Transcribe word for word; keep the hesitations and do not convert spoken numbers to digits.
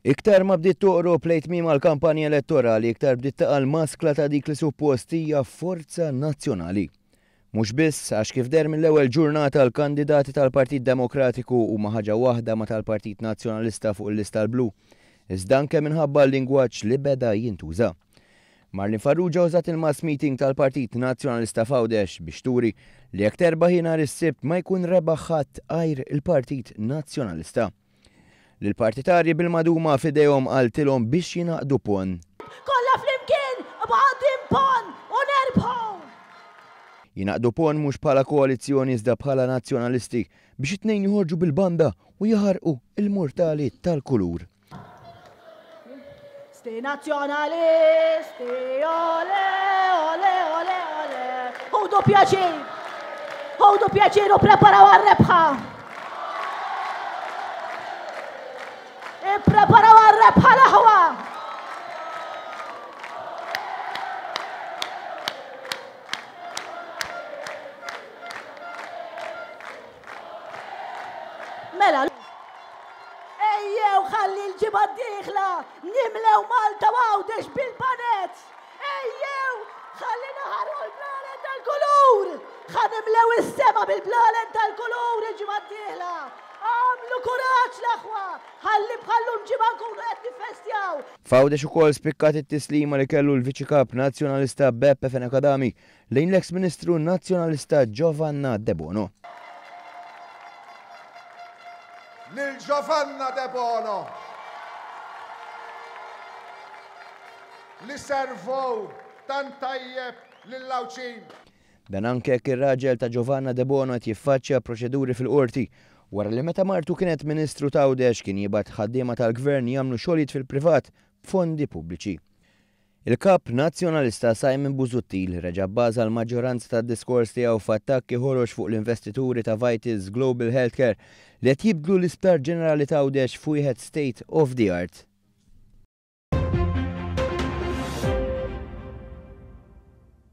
Iktar ma bdiet toqrob lejn tmiem għall-kampanja elettorali, iktar bdiet taqa' l-maskla ta' dik li suppost hija forza nazzjonali. Mhux biss għax kif deher mill-ewwel ġurnata l-kandidati tal-Partit Demokratiku huma ħaġa waħda ma' tal-Partit Nazzjonalista fuq il-lista l-blu, iżda anke minħabba l-lingwaġġ li beda jintuża. Marlene Farrugia użat il-mass meeting tal-Partit Nazzjonalista f'Għawdex biex turi li jekk terbaħ nhar is-Sibt ma jkun rebaħ ħadd għajr il-Partit Nazzjonalista. Lill-partitarji bil-maduma f'idejhom qaltilhom biex jingħaqdu ponn. Kollha flimkien b'għaqdin ponn u nerbħu! Jingħaqdu ponn mhux bħala koalizzjoni iżda bħala nazzjonalisti biex it-tnejn joħorġu bil-banda u jaħarqu il-murtali tal-kulur. Sti nazzjonalisti, ole, ole, ole, ole. Ħudu pjaċir! Ħudu pjaċir u preparaw għar-rebħa! Ippreparaw għar-rebħa l-aħwa! Mela, ejjew ħalli l-ġimgħa d-dieħla nimlew Malta u Għawdex bil-panet! Ejjew ħalli naħarqu l-blalen tal-kulur! Ħa nimlew is-sema bil-blalen tal-kulur il-ġimgħa d-dieħla! Għamlu kuraġġ l-aħwa! Ħalli bħallum ġimgħa nkunu qed niffestjaw! F'Għawdex ukoll spikkat it-tislima li kellu l-Viċi Kap Nazzjonalista Beppe Fenech Adami lejn l-eks Ministru Nazzjonalista Giovanna Debono. Lil Giovanna Debono li servow tant tajjeb lill-Għawdxin. Dan anke jekk ir-raġel ta' Giovanna Debono qed jiffaċċja proċeduri fil-qorti wara li meta martu kienet Ministru t'Għawdex kien jibgħat ħaddiema tal-Gvern jagħmlu xogħlijiet fil-privat b'fondi pubbliċi. Il-Kap Nazzjonalista Simon Busuttil reġa' bbaża l-maġġoranza tad-diskors tiegħu f'attakki ħorox fuq l-investituri ta' Vitals Global Healthcare li qed jibdlu l-Isptar Ġenerali t'Għawdex f'wieħed state of the art.